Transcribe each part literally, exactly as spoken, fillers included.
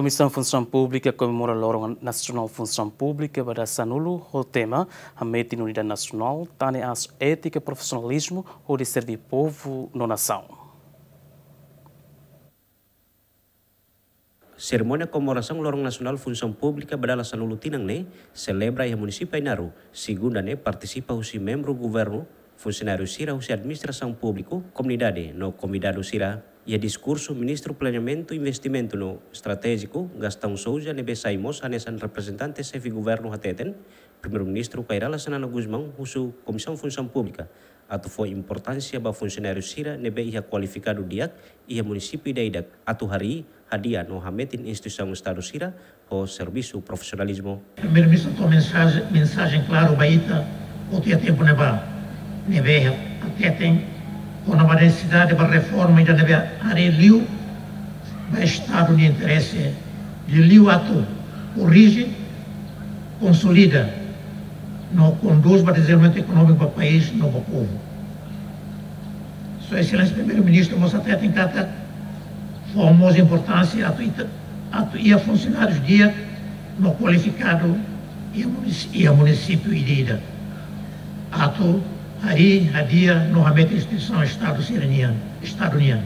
Komisaun Funsaun Públika komemora Loron Nasionál Funsaun Públika ba dala sanulu ho tema Hametin Unidade Nasionál, Tane Aas Étika, Profisionalizmu hodi Serve Povu no Nasaun. Serimónia komemorasaun Loron Nasionál Funsaun Públika ba dala sanulu tinan ne'e selebra iha Munisípiu Ainaro, Segunda ne'e, partisipa husi membru governu, funsionáriu sira husi administrasaun públiku, komunidade no konvidadu sira. Iha diskursu, Ministru Planeamentu, Investimentu no Estratéjiku, Gastão Sousa, ne'ebé sai mós hanesan reprezentante xefe governu, hateten, Primeiru-Ministru Kay Rala Xanana Gusmão husu Komisaun Funsaun Públika atu fó importánsia ba funsionáriu sira ne'ebé iha kualifikadu di'ak iha munisípiu ida-idak, atu harii, hadi'a no hametin instituisaun Estadu sira ho servisu profisionalizmu. Primeiru-Ministru tau mensajen, mensajen klaru ba ita, hotu iha tempu ne'ebá, ne'ebé hateten kona-ba nesesidade ba reforma ida ne'ebé haree liu ba Estadu nia interese, liuliu atu korrije, konsolida no kondús ba dezenvolvimentu ekonómiku ba país no ba povu. Sua Exelénsia Primeiru-Ministru mós hateten katak fó mós importánsia atu ita, atu iha funsionárius di'ak no kualifikadu iha munis-, iha munisípiu ida-idak. Atu harii, hadi'a no hametin instituisaun Estadu sira-nian, Estadu nian.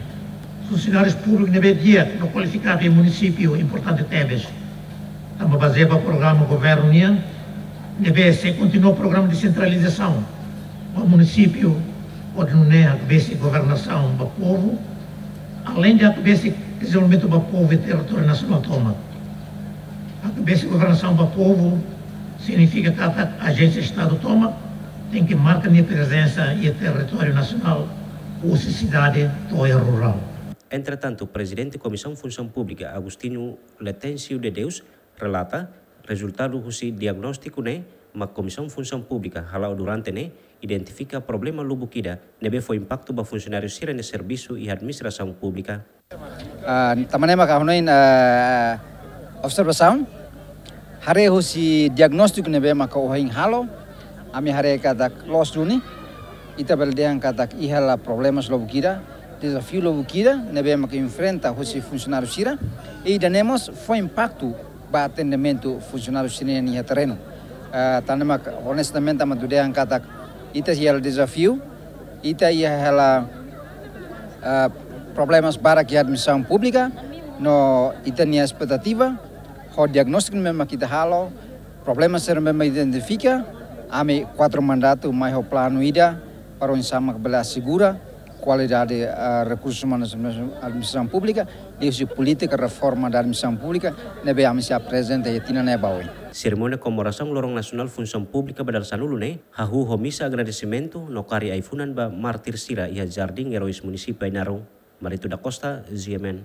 Funsionárius públiku ne'ebé di'ak no kualifikadu iha munisípiu importante tebes. Tanba bazeia ba programa governu nian, ne'ebé sei kontinua programa desentralizasaun ba munisípiu, hodi nune'e hakbesik governasaun ba povu, aleinde hakbesik dezenvolvimentu ba povu iha territóriu nasionál tomak. Hakbesik governasaun ba povu signifika katak ajénsia Estadu tomak tenke marka nia prezensa iha territóriu nasionál, husi sidade to'o iha rurál. Entretantu, Prezidente Komisaun Funsaun Públika, Agostinho Letêncio de Deus, relata, rezultadu husi diagnóstiku ne'e mak Komisaun Funsaun Públika hala'o durante ne'e identifika problema lubuk ida ne'ebé fó impaktu ba funsionáriu sira-nia servisu iha administrasaun públika. Ah, tanba ne'e maka ha'u hanoin, ah, observasaun, haree husi diagnóstiku ne'ebé maka ohin halo, ami haree katak loos duni, ita bele dehan katak iha hela problemas lubuk ida, dezafiu lubuk ida ne'ebé maka enfrenta husi funsionáriu sira, i ida-ne'e mós fó impaktu ba atendimentu funsionáriu sira-nian iha terrenu. Ah, tanba ne'e maka onestamente ami atu dehan katak ita iha hela dezafiu, ita iha hela, ah, problemas barak iha administrasaun públika, no ita-nia espetativa, ho diagnóstiku ne'ebé maka ita halo, problema sira ne'ebé maka identifika, ami kuatru mandatu mai ho planu ida, para oinsá maka bele asegura kualidade, ah, rekursus umanus administrasaun públika, liuhusi polítika reforma da administrasaun públika, ne'ebé ami sei aprezenta iha tinan ne'e ba oin. Serimónia komemorasaun Loron Nasionál Funsaun Públika ba dala sanulu ne'e, hahú ho misa agradesimentu no karik ai-funan ba mártir sira iha Jardín Heróis Munisípiu Ainaro. Marito da Costa, G M N.